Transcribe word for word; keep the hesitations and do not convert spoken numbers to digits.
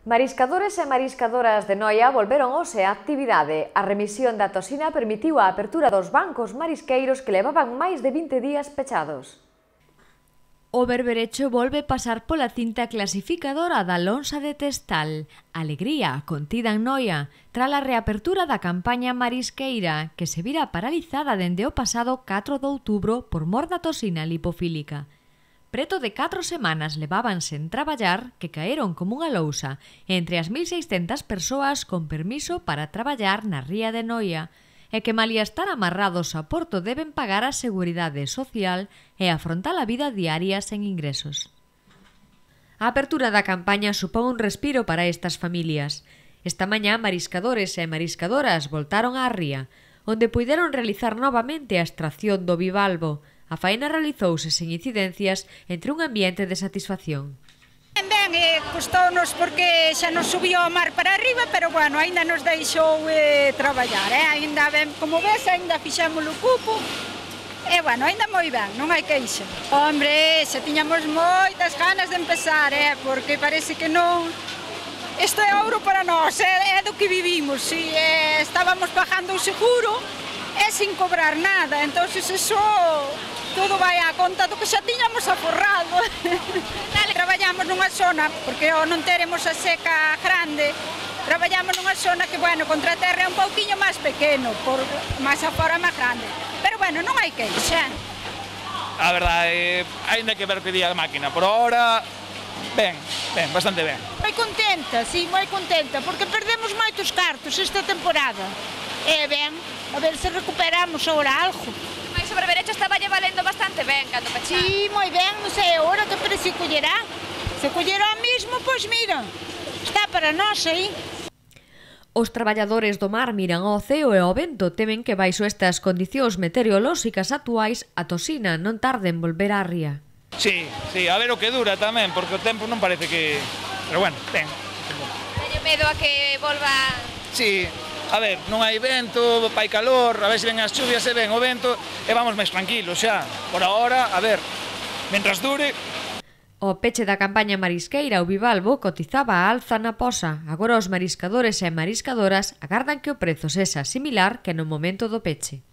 Mariscadores e mariscadoras de Noia volveron hoxe á actividade. A remisión da toxina permitiu a apertura dos bancos marisqueiros que levaban máis de vinte días pechados. O berberecho volve pasar pola cinta clasificadora da lonxa de Testal. Alegría contida en Noia tras a reapertura da campaña marisqueira que se vira paralizada dende o pasado catro de outubro por mor da toxina lipofílica. Preto de catro semanas levaban sen traballar que caeron como unha lousa entre as mil seiscentas persoas con permiso para traballar na ría de Noia e que malia estar amarrados a Porto deben pagar a seguridade social e afrontar a vida diaria sen ingresos. A apertura da campaña supón un respiro para estas familias. Esta mañá mariscadores e mariscadoras voltaron á ría, onde puideron realizar novamente a extracción do bivalvo. A faena realizouse sen incidencias entre un ambiente de satisfacción. Ben, ben, eh, custounos porque xa nos subiu o mar para arriba, pero bueno, aínda nos deixou eh, traballar, eh? Aínda ben, como ves, aínda fixemos o cupo, e bueno, aínda moi ben, non hai queixa. Hombre, xa tiñamos moitas ganas de empezar, eh? Porque parece que non... Isto é ouro para nós, é, é do que vivimos, si eh, estábamos pagando o seguro e sin cobrar nada, entonces eso... Todo vai á conta do que xa tiñamos aforrado. Traballamos nunha zona, porque ao non teremos a seca grande, traballamos nunha zona que, bueno, contra a terra é un pouquiño máis pequeno, por máis afora máis grande. Pero, bueno, non hai queixa. A verdade, aínda que ver que día a máquina, por ahora, ben, ben, bastante ben. Moi contenta, sí, moi contenta, porque perdemos moitos cartos esta temporada. E ben, a ver se recuperamos agora algo. Mais o berberecho estaba lle valendo bastante ben cando pechaba. Sí, moi ben, non sei agora que precio collerá. Se collerá mismo, pois mira, está para nós aí. Os traballadores do mar miran ao ceo e ao vento, temen que baixo estas condicións meteorolóxicas actuais a toxina non tarde en volver á ría. Sí, sí, a ver o que dura tamén, porque o tempo non parece que... Pero bueno, ten. Teño medo a que volva... Sí. A ver, non hai vento, hai calor, a ver se ven as chuvias e ven o vento e vamos máis tranquilos xa. Por ahora, a ver, mentras dure... O peche da campaña marisqueira o bivalvo cotizaba a alza na posa. Agora os mariscadores e mariscadoras agardan que o prezo sexa similar que no momento do peche.